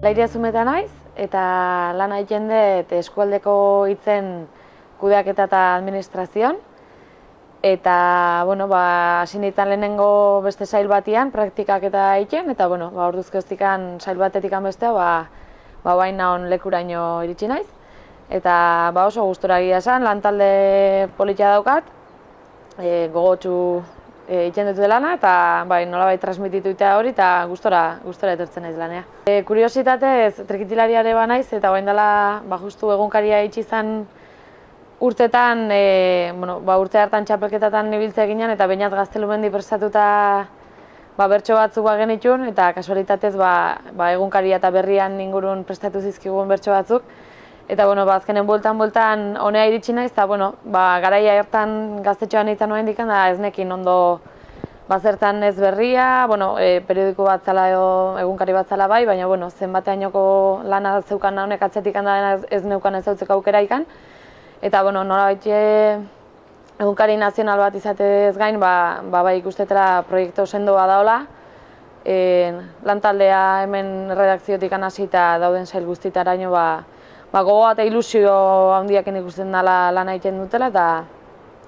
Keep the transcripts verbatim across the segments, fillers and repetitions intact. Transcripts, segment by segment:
Lairia Zumeta naiz, eta lan egiten dut eskualdeko hitzen kudeaketa eta administrazioan. Eta, bueno, ba, hasi nintzen lehenengo beste sail batian, praktikak eta egiten, eta, bueno, ba, orduzkoztikan sail batetik bestea, ba, ba, baina on lekuraino iritsi naiz. Eta, ba, oso gustora egia esan, lantalde politia daukat, e, gogotsu egiten dut lana, eta bai, nolabait transmititu eta hori, eta gustora, gustora etortzen naiz lanea. E, kuriositatez, trikitilariare ba naiz, eta bain dela, ba, justu egunkaria itxi izan urtetan, e, bueno, ba, urte hartan txapelketatan ibiltze ginen, eta bainat Gaztelumendi prestatuta ba, bertso batzuk ba genitun, eta kasualitatez ba, ba, egunkaria eta berrian ingurun prestatu zizkigun bertso batzuk. Eta, bueno, ba, azkenen bueltan-bueltan honea iritsi naiz, eta, bueno, ba, garaia hartan gaztetxoan egiten nuen dikan, da ez nekin ondo bazertan ez berria, bueno, e, periodiko bat zala edo egunkari bat zala bai, baina, bueno, zenbateainoko lana zeukan honek atzetik handa ez neukan ez zautzeko aukera ikan. Eta, bueno, nolabait egunkari nazional bat izatez gain, ba, ba, ba ikustetela proiektu sendoa daola. E, lantaldea hemen redakziotik hasi eta dauden sail guztitaraino, ba, ba, gogoa eta ilusio handiaken ikusten dela lan egiten dutela, eta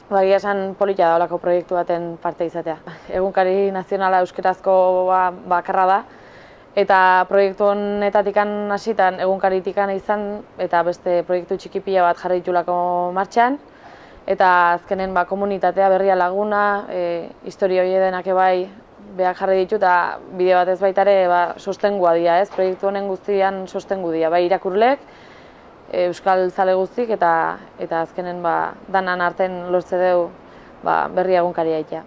ba, egia esan polita daolako proiektu baten parte izatea. Egunkari nazionala euskerazko ba, bakarra da, eta proiektu honetatik hasitan egunkaritikan izan, eta beste proiektu txikipila bat jarri ditulako martxan, eta azkenen ba, komunitatea berria laguna, e, historia hori denak bai behar jarri ditu, eta bide bat ez baitare ba, sostengua dira, ez? Proiektu honen guztian sostengu dira, bai irakurlek, euskal zale guztik, eta, eta azkenen ba, danan arten lortze deu ba, berria egunkaria itea.